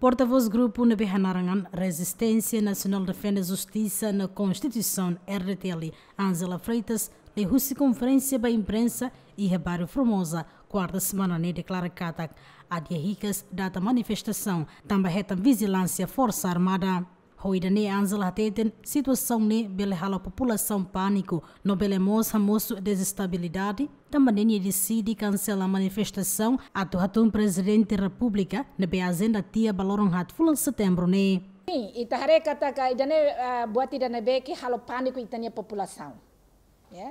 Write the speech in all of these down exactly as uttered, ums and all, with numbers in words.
Portavós grupu ne'ebé hanaran Rezisténsia Nasionál Defende Justisa no Konstituisaun, R D T L, Ângela Freitas, liuhusi konferénsia ba imprensa iha bairru Formosa, kuarta semana ne'e, deklara katak adia hikas data manifestasaun tanba hetan vijilánsia Forsa Armada. Ho ida-ne'e Ângela hateten situasaun ne'e bele halo populasaun pániku, no bele mós hamosu dezestabilidade, tanba ne'e nia deside kansela manifestasaun atu hatún Prezidente Repúblika ne'ebé ajenda tiha ba loron haat fulan Setembru ne'e. Sin, ita haree katak ida-ne'e, ah, buat ida ne'ebé ke halo pániku ita-nia populasaun. Ya.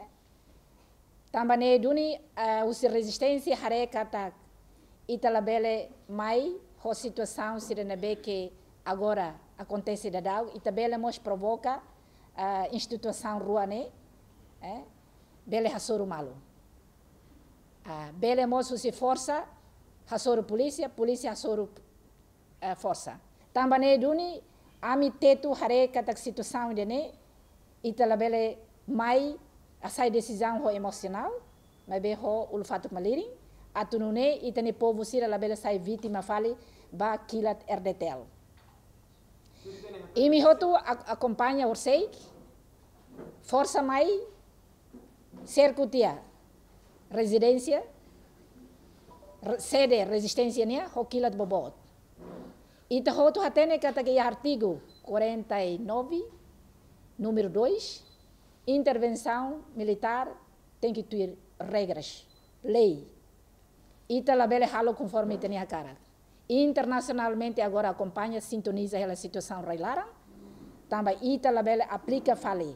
Tanba ne'e duni, ah, husi rezisténsia haree katak ita labele mai ho situasaun sira ne'ebé ke agora akontese daudaun, ita bele mós provoka, ah, instituisaun rua ne'e, eh, bele hasoru malu. Ah, bele mós husi forsa hasoru polísia, polísia hasoru, eh, forsa. Tanba ne'e duni, ami tetu haree katak situasaun ida-ne'e, ita labele mai hasai desizaun ho emosionál, maibé ho ulun-fatuk malirin, atu nune'e ita-nia povu sira labele sai vítima fali ba kilat R D T L. Imi hotu ak-, akompaña horiseik, forsa mai, serku tiha rezidénsia, re-, sede rezisténsia nian ho kilat boboot. Ita hotu hatene katak iha artigu quarenta e nove, númeru dois, intervensaun militár tenke tuir regras, lei. Ita labele halo konforme ita-nia hakarak. Internasionalmente agora akompaña, sintoniza hela situasaun rai-laran, tanba ita labele aplika fali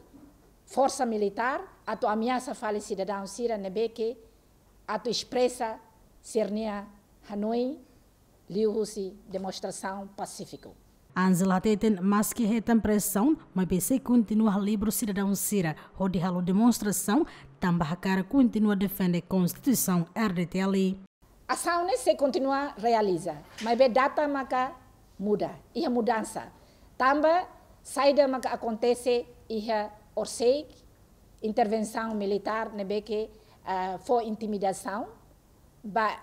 forsa militár atu ameasa fali sidadaun sira ne'ebé ke atu espresa sira-nia hanoin liuhusi demonstrasaun pasífiku. Ângela hateten maski hetan presaun, maibé sei kontinua halibur sidadaun sira hodi halo demonstrasaun, tanba hakarak kontinua defende Konstituisaun R D T L. Asaun ne'e sei kontinua realiza, maibé data maka muda, iha mudansa. Tanba saida maka akontese iha horiseik, intervensaun militár ne'ebé ke, ah, fó intimidasaun ba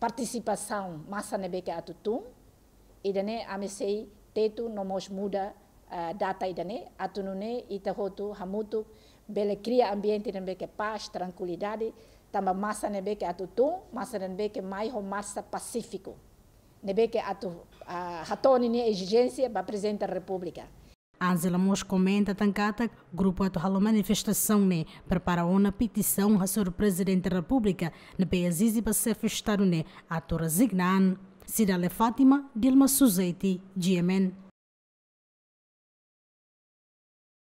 partisipasaun masa ne'ebé ke atu tun, ida-ne'e ami sei tetu no mós muda, ah, data ida-ne'e, atu nune'e ita hotu hamutuk bele kria ambiente ne'ebé ke pás, trankuilidade, tanba masa ne'ebé ke atu tun, masa ne'ebé ke mai ho marsa pasífiku, ne'ebé ke atu, ah, hato'o ninia ezijénsia ba Prezidente da Repúblika. Ângela mós komenta tan katak grupu atu halo manifestasaun ne'e prepara ona petisaun hasoru Prezidente Repúblika ne'ebé ezije ba Xefe Estadu ne'e atu rezigna an. Cidália Fátima, Dilma Suzeti, G M N.